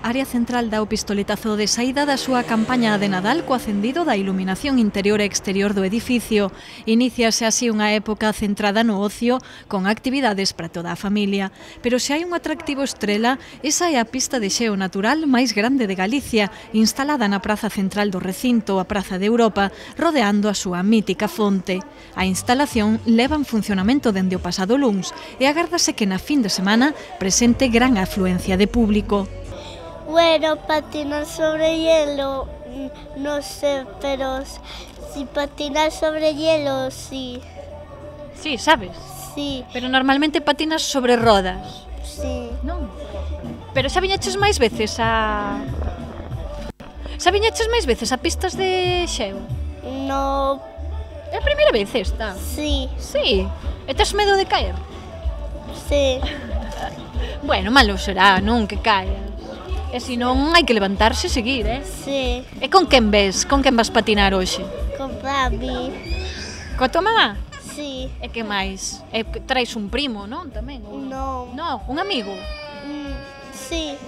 Área central dá o pistoletazo de saída da súa campaña de Nadal co acendido da iluminación interior e exterior do edificio. Iníciase así unha época centrada no ocio, con actividades para toda a familia. Pero se hai un atractivo estrela, esa é a pista de xeo natural máis grande de Galicia, instalada na praza central do recinto, a Praza de Europa, rodeando a súa mítica fonte. A instalación leva en funcionamento dende o pasado luns e agárdase que na fin de semana presente gran afluencia de público. Bueno, patinar sobre hielo, no sé, pero si patinar sobre hielo, sí. Sí, sabes? Sí, Pero normalmente patinas sobre rodas, sí. non? Pero xa viñeches máis veces a... Xa viñeches máis veces a pistas de xeo? No, É a primeira vez esta? sí, Sí. E tes medo de caer? sí. Bueno, malo será, non, que caia. E se non, hai que levantarse e seguir, Sí, E con quen ves? Con quen vas patinar hoxe? con papi, Coa tua mamá? sí. E que máis? E traes un primo, non? Tamén? Ou... No, No, un amigo? sí.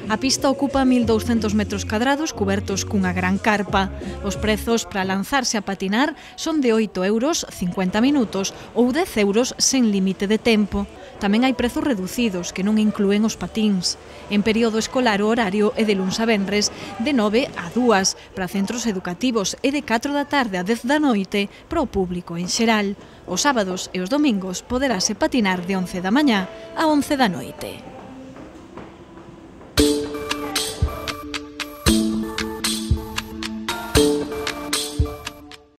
A pista ocupa 1.200 metros cadrados cubertos cunha gran carpa. Os prezos para lanzarse a patinar son de 8 euros 50 minutos ou 10 euros sen límite de tempo. Tamén hai prezos reducidos que non inclúen os patíns. En período escolar o horario é de luns a venres de 9 a 2 para centros educativos e de 4 da tarde a 10 da noite para o público en xeral. Os sábados e os domingos poderase patinar de 11 da mañá a 11 da noite.